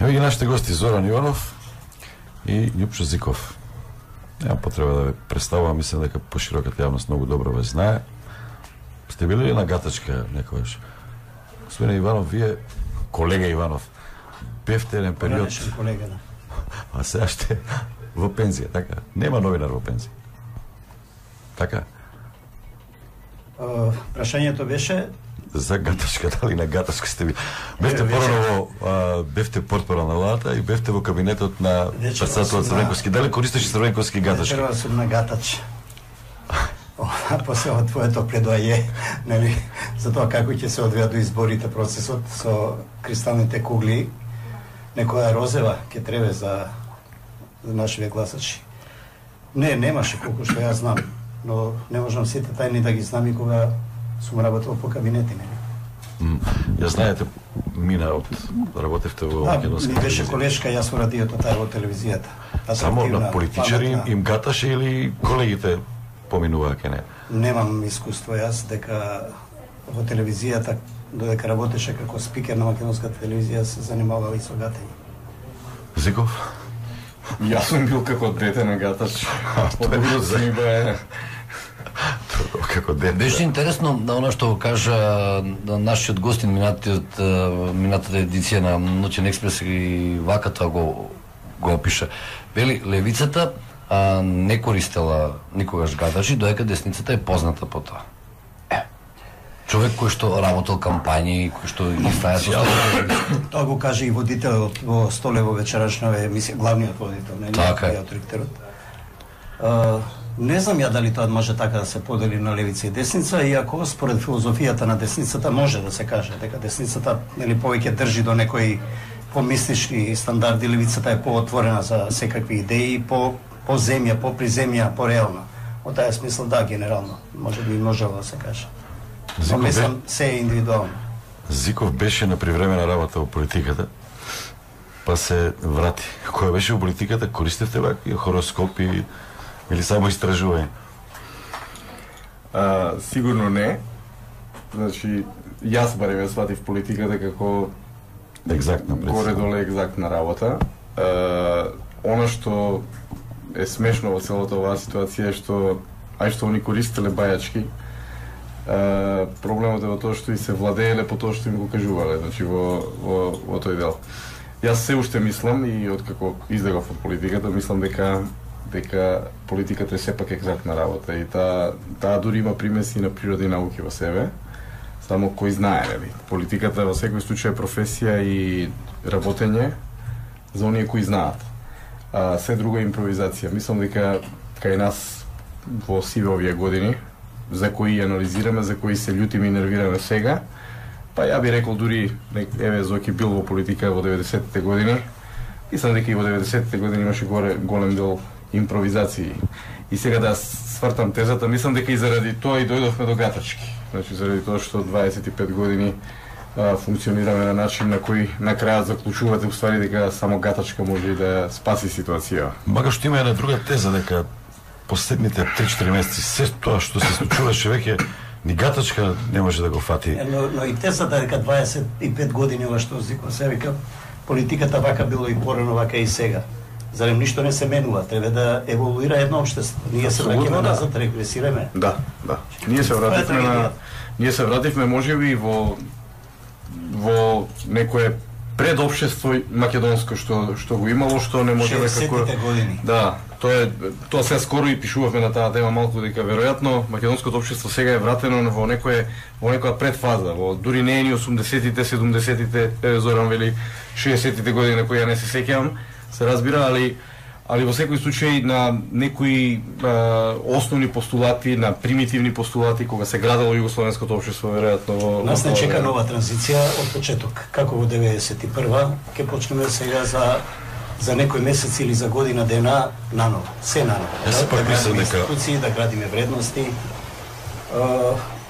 Ево ги нашите гости Зоран Иванов и Љупчо Зиков. Нема потреба да ве представувам, мислам дека пошироката јавност многу добро ве знае. Сте били ли на гатачка некогаш? Господин Иванов, вие, колега Иванов, бевте еден период... колега, да. А сега ще во пензија, така? Нема новинар во пензија. Така? Прашањето беше... За гатачка, дали на гатачка сте ви? Бевте порано бевте портпарол на владата и бевте во кабинетот на председателот Црвенковски. Дали користеше Црвенковски гатачки? Вечерва сум на гатач. После од твоето предоаје, нели, за тоа како ќе се одвија до изборите процесот со кристалните кугли, некоја розева ќе требе за нашите гласачи. Немаше колку што ја знам, но не можам сите тајни да ги знам и кога сум работел по кабинети, нели. Ја знаете, мина од работевте во Македонска телевизија. Да, ми беше колешка, јас во радиото, тај во телевизијата. Само на политичари им гаташе или колегите поминуваа ке не? Немам искуство јас, дека во телевизијата, додека работеше како спикер на македонската телевизија, се занимавал и со гатење. Зиков? Јас сум бил како дете на гатач. Тоа се ми бе... Како дете. Беше интересно да она што кажа нашиот гостин минатата едиција на Ноќен експрес и вака тоа го опиша. Вели, левицата не користела никогаш гатачи, доека десницата е позната по тоа. Човек кој што работел кампањи, кој што ги стаја со тоа го каже и водителот во Столево вечерашна емисија, главниот водител, не ректорот. Не знам ја дали тоа може така да се подели на левица и десница, иако според филозофијата на десницата може да се каже дека десницата нели повеќе држи до некои помислички стандарди, левицата е поотворена за секакви идеи, по земја, по приземја, по реално. Во таа смисла да, генерално, може би можело да се каже. Но мислам се е индивидуално. Зиков беше на привремена работа во политиката, па се врати. Која беше во политиката, користевте вакви хороскопи или само истражување? Сигурно не. Значи, јас барем ја сватив политиката како екзактна горе-доле екзактна работа. Она што е смешно во целата оваа ситуација е што они користеле бајачки, проблемот е во тоа што и се владееле по тоа што им го кажувале, значи во тој дел. Јас се уште мислам и откако излегов од политиката, мислам дека политиката е сепак екзактна работа и таа дури има примеси на природа и науки во себе, само кој знае, нели? Политиката во секој случај е професија и работење за оние кои знаат. Се друго е импровизација. Мислам дека кај нас во сиве овие години, за кои анализираме, за кои се љутиме и нервираме сега, па ја би рекол дури, еве Зоки бил во политика во 90-те години, мислам дека и во 90-те години имаше голем дел импровизации. И сега да свртам тезата, мислам дека и заради тоа и дојдовме до гатачки. Значи заради тоа што 25 години функционираме на начин на кој на крајот заклучувате уствари дека само гатачка може и да спаси ситуација. Мага што има една друга теза дека последните 3-4 месеци се тоа што се случуваше веќе ни гатачка не може да го фати. Но и тезата дека 25 години ова што Зиков се вика, политиката вака било и порано, вака и сега. Зарем ништо не се менува, треба да еволуира едно општество. Ние се враќаме назад, регресираме. Да. Ние се вративме можеби во некое предопштество македонско што го имало, што не можеме како... 60-те години. Да, тоа се скоро и пишувавме на таа тема малку дека веројатно македонското општество сега е вратено во некоја предфаза, дури не е ни 80-тите, 70-тите, Зоран вели 60-тите години на кои ја не се сеќавам, се разбира, али во секој случај на некои основни постулати, на примитивни постулати кога се градело југословенското општество, веројатно нас не чека нова транзиција од почеток. Како во 91-ва, ќе почнеме сега за некој месец или за година дена наново, се наново. Да градиме институции, да градиме вредности,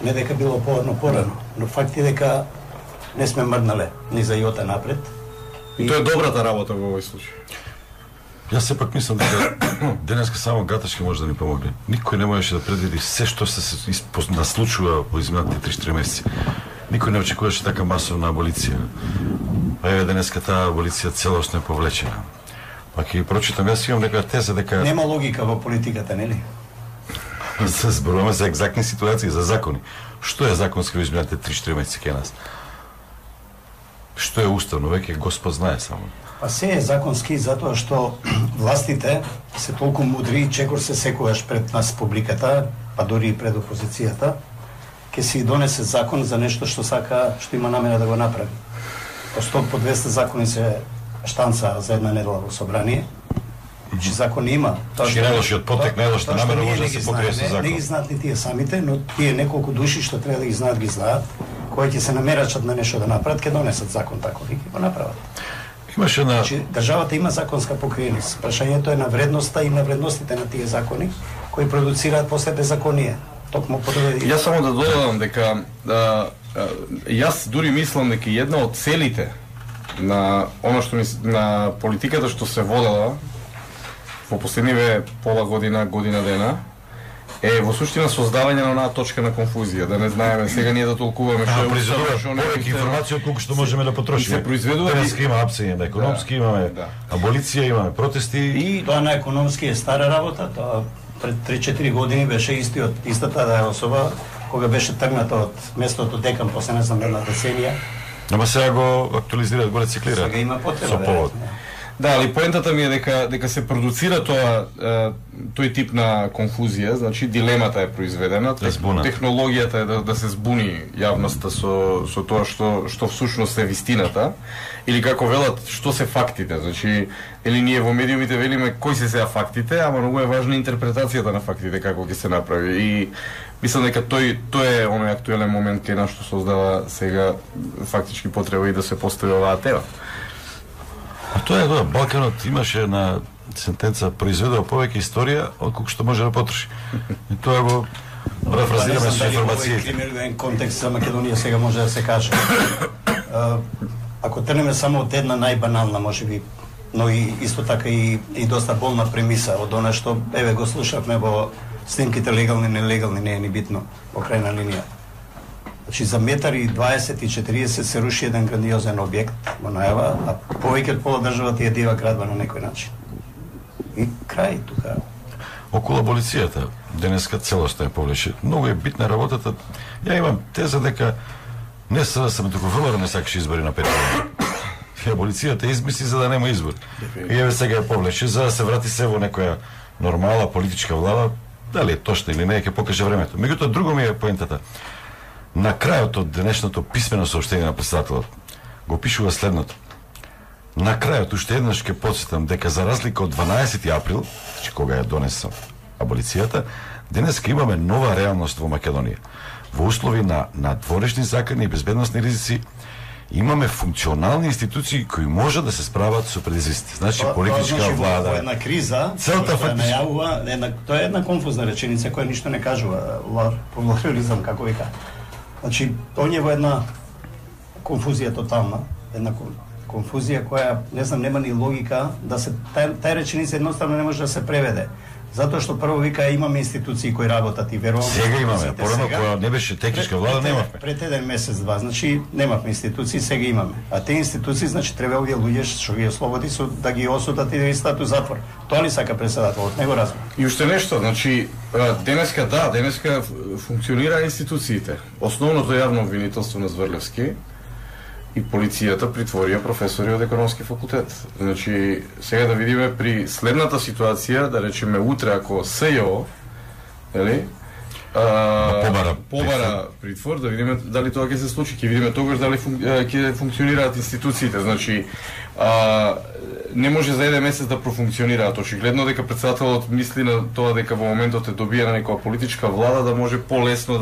не дека било порано, но факт е дека не сме мрднале ни за јота напред. И тоа е добрата работа во овој случај. Јас сепак мислам дека денеска само гатачки може да ни помогне. Никој не можеше да предвиди се што се наслучува во изминатите 3-4 месеци. Никој не очекуваше така масовна аболиција. па еве денеска таа аболиција целосно е повлечена. Па ќе прочитам, јас имам некоја теза дека нема логика во политиката, нели? се зборуваме за екзактни ситуации, за закони. Што е законски во изминатите 3-4 месеци кај нас? Што е уставно, веќе Господ знае само. Па се е законски затоа што властите се толку мудри и чекор се секогаш пред нас публиката, па дури и пред опозицијата, ќе си донесе закон за нешто што сака, што има намера да го направи. По 100 по 200 закони се штанца за една недела во собрание. Значи закон има. Најлошиот потек, најлошата намера може да се покрие со закон. Не ги знаат ни тие самите, но тие неколку души што треба да ги знаат, кои ќе се намерачат на нешто да направат, ќе донесат закон таков и ќе го направат. Имаше на Значи државата има законска покриеност. Прашањето е на вредноста и на вредностите на тие закони кои продуцираат после беззаконие. Токму Јас само да додадам дека јас дури мислам дека една од целите на она што на политиката што се водела во последниве пола година дена е во суштина создавање на онаа точка на конфузија, да не знаеме сега ние да толкуваме што е произведува повеќе информација од колку што можеме да потрошиме. Се произведува денеска има апсење на економски, имаме аболиција, имаме протести и тоа на економски е стара работа, тоа пред 3-4 години беше истата да е особа кога беше тргната од местото декан после не знам една деценија. Ама сега го актуализираат, го рециклираат. Сега има потреба. Со повод. Да, али поентата ми е дека се продуцира тој тип на конфузија, значи дилемата е произведена, технологијата е да се збуни јавноста со тоа што всушност е вистината, или како велат што се фактите, значи или ние во медиумите велиме кои се сега фактите, ама многу е важна интерпретацијата на фактите како ќе се направи и мислам дека тој е оној актуелен момент кај нас што создава сега фактички потреба и да се постави оваа тема. А тоа е Балканот имаше една сентенца произведува повеќе историја отколку што може да потроши. И тоа го парафразираме со информацијите. Криминален контекст за Македонија сега може да се каже. Ако тренеме само од една најбанална можеби, но и исто така и доста болна премиса од она што еве го слушавме во снимките легални нелегални, не е ни битно во крајна линија. Значи за метар и 20 и 40 се руши еден грандиозен објект во најава, а повеќе од пола државата ја дива градба на некој начин. И крај тука. Околу аболицијата денеска целосно е повлече. Многу е битна работата. Ја имам теза дека не СДСМ, туку ВМРО не сакаше избори на 5 години. Аболицијата измисли за да нема избор. И еве сега е повлече за да се врати се во некоја нормална политичка влада, дали е точно или не, ќе покаже времето. Меѓутоа друго ми е поентата. На крајот од денешното писмено соопштение на претседателот го пишува следното. На крајот уште еднаш ќе потсетам дека за разлика од 12 април, значи кога ја донесам аболицијата, денеска имаме нова реалност во Македонија. Во услови на надворешни закани и безбедносни ризици имаме функционални институции кои можат да се справат со предизвиците. Значи политичка влада. Во една криза, целта фактично најавува, тоа е една конфузна реченица која ништо не кажува, плурализам како вика. Значи, он е во една конфузија тотална, една конфузија која, не знам, нема ни логика да се тај реченица едноставно не може да се преведе. Затоа што прво вика имаме институции кои работат и верувам. Сега имаме, порано кога не беше техничка влада немавме. Пред еден месец два, значи немавме институции, сега имаме. А тие институции значи треба овие луѓе што ги ослободи со да ги осудат и да ги стату затвор. Тоа ли сака претседателот, него разбира. И уште нешто, значи денеска функционира институциите. Основното јавно обвинителство на Зврлевски и полицијата притворија професори од економски факултет. Значи, сега да видиме при следната ситуација, да речеме утре ако СЈО, нели? Побара притвор, да видиме дали тоа ќе се случи, ќе видиме тогаш дали ќе функционираат институциите. Значи, не може за еден месец да профункционираат. Очигледно дека претседателот мисли на тоа дека во моментот е добиена некоја политичка влада да може полесно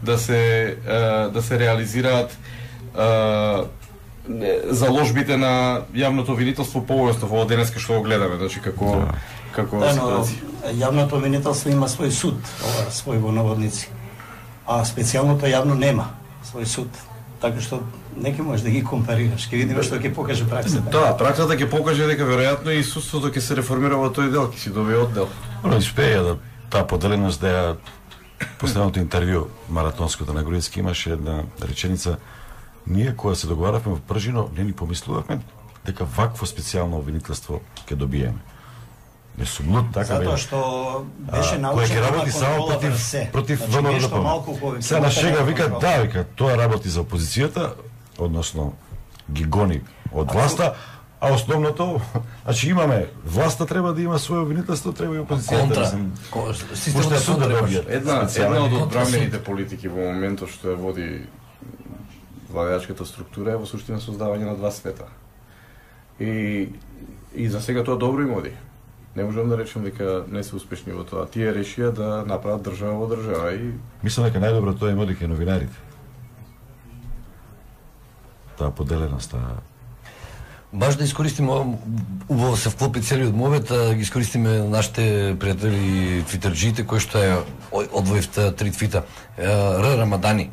да се реализираат заложбите на јавното обвинителство повеќе во денеска што го гледаме, значи како ситуација. Јавното обвинителство има свој суд, свој во наводници. А специјалното јавно нема свој суд. Така што неки можеш да ги компарираш, ќе видиме што ќе покаже праксата. Да, праксата ќе покаже дека веројатно и судството ќе се реформира во тој дел, ќе си добие оддел. Успеја да таа поделеност да ја последното интервју маратонското на Груевски имаше една реченица ние кога се договаравме во Пржино, не ни помислувавме дека вакво специјално обвинителство ќе добиеме. Не сум луд, така затоа што беше научено работи само против ВМРО. Сега на шега вика, да, вика, тоа работи за опозицијата, односно ги гони од власта, а основното, значи имаме власта треба да има своје обвинителство, треба и опозицијата. Системот суд да добие. Една од одбранените политики во моментот што ја води владеачката структура е во суштина создавање на два света. И за сега тоа добро им оди. Не можам да речем дека не се успешни во тоа. Тие решија да направат држава во држава и мислам дека најдобро тоа им оди кај новинарите. Таа поделеност, Баш да искористиме, убаво се вклопи целиот мовет, да ги искористиме нашите пријатели твитерџиите, кои што е одвоивте 3 твита. Р. Рамадани,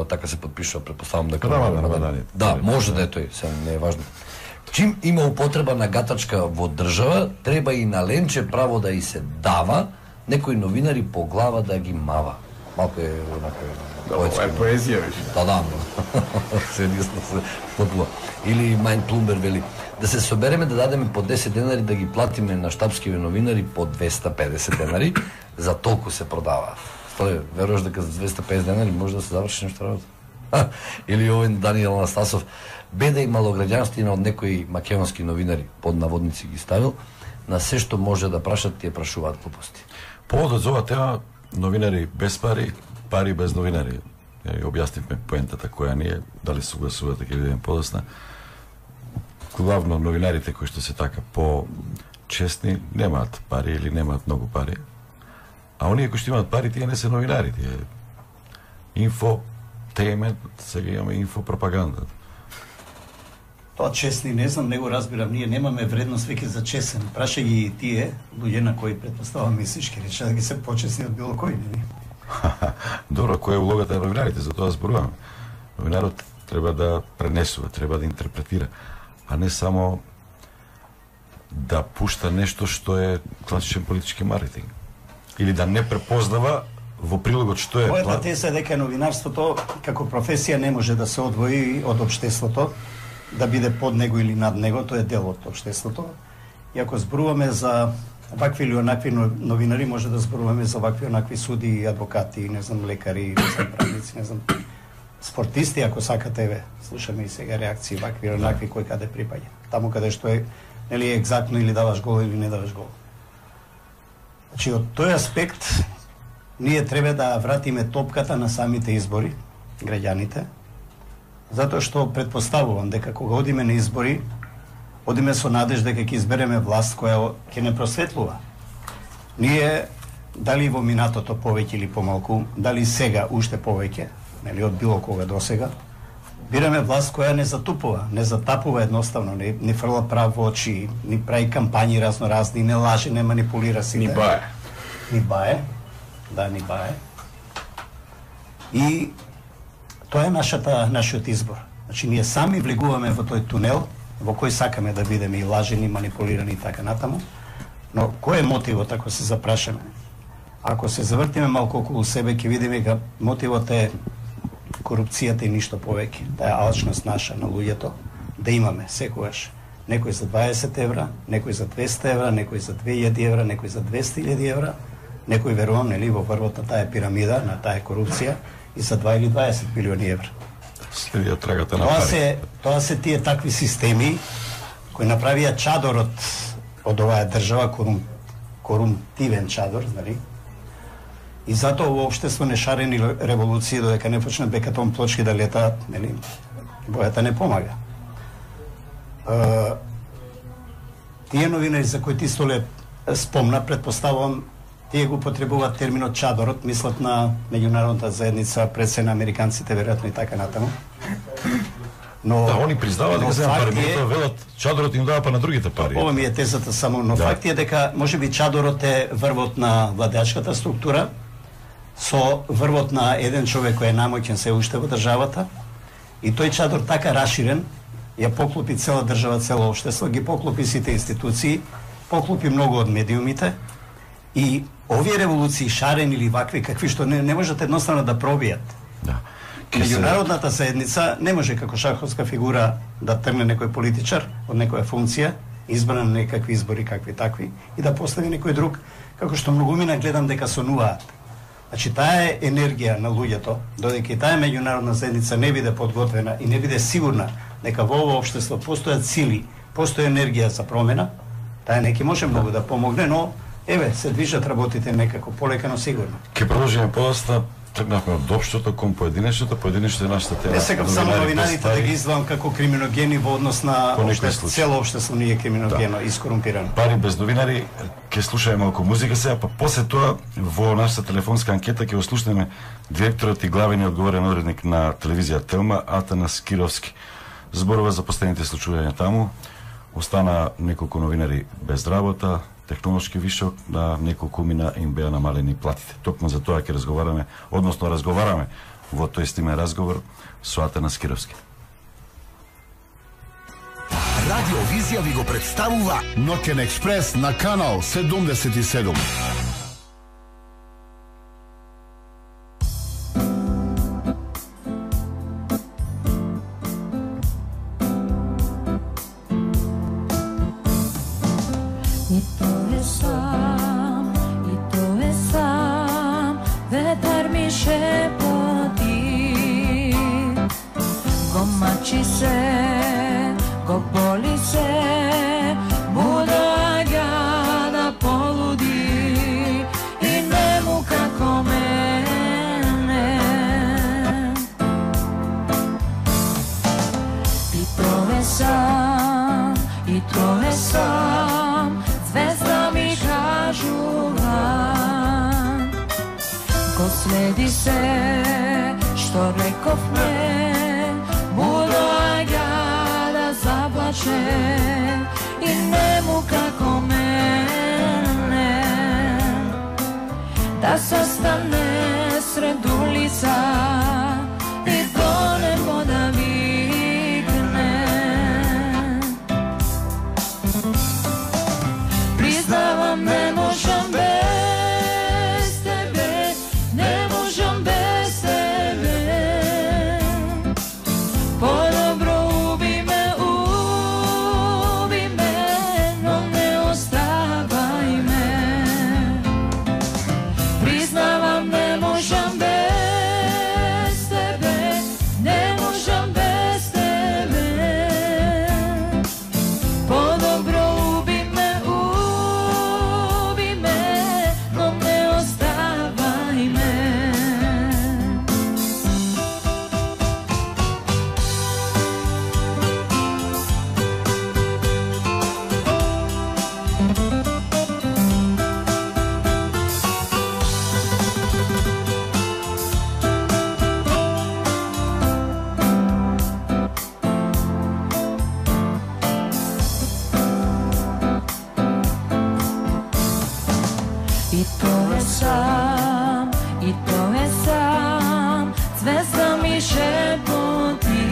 така се подпишува, предпоставам дека Рамадани. Да, може да е тој, се не е важно. Чим има употреба на гатачка во држава, треба и на Ленче право да и се дава, некои новинари по глава да ги мава. Малко е поетска. Е поезија, виж. Да. Сериозно се вклопува. Или Мајн Плумбер вели, да се собереме да дадеме по 10 денари да ги платиме на штабскиве новинари по 250 денари, за толку се продава. Стој, веруваш дека за 250 денари може да се заврши нешто работа? Или овој Даниел Анастасов, беда и малограѓанствина од некои македонски новинари, под наводници ги ставил, на се што може да прашат, тие прашуваат глупости. Поводот за оваа тема, новинари без пари, пари без новинари. Ја објаснивме поентата која ние, дали согласувате, ќе видиме подосна. Главно новинарите кои што се така по-честни немаат пари или немаат многу пари. А оние кои што имаат пари, тие не се новинари, тие инфотеймент, сега имаме инфопропаганда. Тоа честни, не знам, не го разбирам, ние немаме вредност веќе за чесен. Праша ги тие, луѓе на кои предпоставам мислички, рече да ги се почесни од било кој, нели? Добро, која е улогата на новинарите, за тоа зборуваме. Новинарот треба да пренесува, треба да интерпретира, а не само да пушта нешто што е класичен политички маркетинг. Или да не препознава во прилогот што е Мојата теза е дека новинарството како професија не може да се одвои од општеството, да биде под него или над него, тоа е дел од општеството. И ако зборуваме за вакви или онакви новинари, може да зборуваме за вакви онакви суди, адвокати, не знам, лекари, не знам, правници, не знам, спортисти, ако сакате, ве, слушаме и сега реакции, вакви или онакви, кој каде припаѓа. Таму каде што е, нели, екзактно или даваш гол или не даваш гол. Значи, од тој аспект, ние треба да вратиме топката на самите избори, граѓаните, затоа што предпоставувам дека кога одиме на избори, одиме со надеж дека ќе избереме власт која ќе не просветлува. Ние, дали во минатото повеќе или помалку, дали сега уште повеќе, нели од било кога до сега, бираме власт која не затупува, не затапува едноставно, не фрла прав во очи, ни прави кампањи разноразни, не лаже, не манипулира сите. Ни бае. Ни бае. Да, ни бае. И тоа е нашиот избор. Значи, ние сами влегуваме во тој тунел, во кој сакаме да бидеме и лажени, манипулирани и така натаму. Но кој е мотивот, ако се запрашаме? Ако се завртиме малку околу себе, ќе видиме дека мотивот е корупцијата и ништо повеќе. Таа е алчност наша на луѓето, да имаме секогаш некој за 20 евра, некој за 200 евра, некој за 2000 евра, некој за 200.000 евра, некој верувам, нели, во врвот на таа пирамида, на таа корупција, и за 2 или 20 милиони евра. Следија трагата на пари. Тоа се тие такви системи кои направија чадорот од оваа држава, корумтивен чадор, нали? И затоа во општество не шарени револуции додека не почнат бекатон плочки да летаат, нели? Бојата не помага. Тие новинари за кои ти Столе спомна, предпоставувам, тие го потребуваат терминот чадорот, мислат на меѓународната заедница, пред се на американците, веројатно и така натаму. Но да, они признаваат дека се пари, велат чадорот им дава па на другите пари. Ова ми е тезата само, но факт е дека можеби чадорот е врвот на владеачката структура со врвот на еден човек кој е најмоќен се уште во државата, и тој чадор така раширен ја поклопи цела држава, цело општество, ги поклопи сите институции, поклопи многу од медиумите, и овие револуции шарени или вакви какви што не можат едноставно да пробијат. Да. Меѓународната заедница не може како шаховска фигура да тргне некој политичар од некоја функција, избран на некакви избори какви такви, и да постави некој друг, како што многумина гледам дека сонуваат. Значи, таа енергија на луѓето, додека и таа меѓународна заедница не биде подготвена и не биде сигурна дека во ово општество постојат сили, постои енергија за промена, таа неки може многу да помогне, но еве, се движат работите некако полека, но сигурно. Ке продолжиме подоста, тргнавме од општото кон поединечното е нашата тема. Не сакам само новинарите да ги издавам како криминогени во однос на цело општество не е криминогено и скорумпирано. Пари без новинари, ке слушаме малку музика сега, па после тоа во нашата телефонска анкета ќе го слушнеме директорот и главниот одговорен уредник на телевизија Телма, Атанас Кировски. Зборува за последните случувања таму. Остана неколку новинари без работа, технолошки вишок, на неколку мина им беа намалени платите. Токму за тоа ќе разговараме во тој стимен разговор со Атанас Кировски. Радиовизија ви го представува Ноќен експрес на канал 77. Следи се, што рековме, доаѓа да заплаче и нему како мене, да се стане сред улица и до небо да викне. Признавам, не можам без тебе, не можам без тебе. По-добро уби ме, но не оставај ме. Признавам, не можам без тебе, не можам без тебе. По-добро уби ме, но не оставај ме. И то е сам, звезда ми шепоти,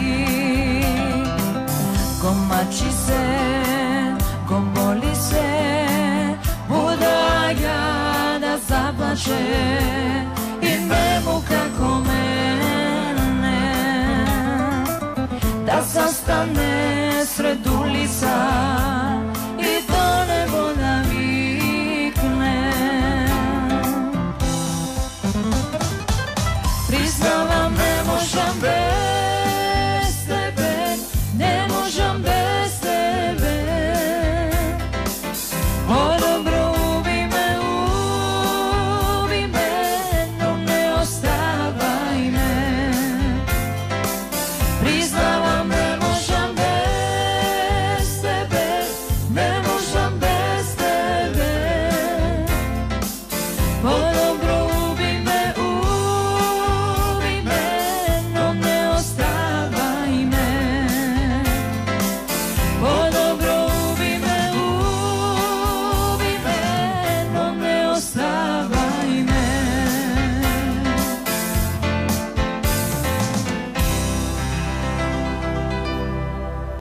го мачи се, го боли се, доаѓа да заплаче и нему како мене, да застане сред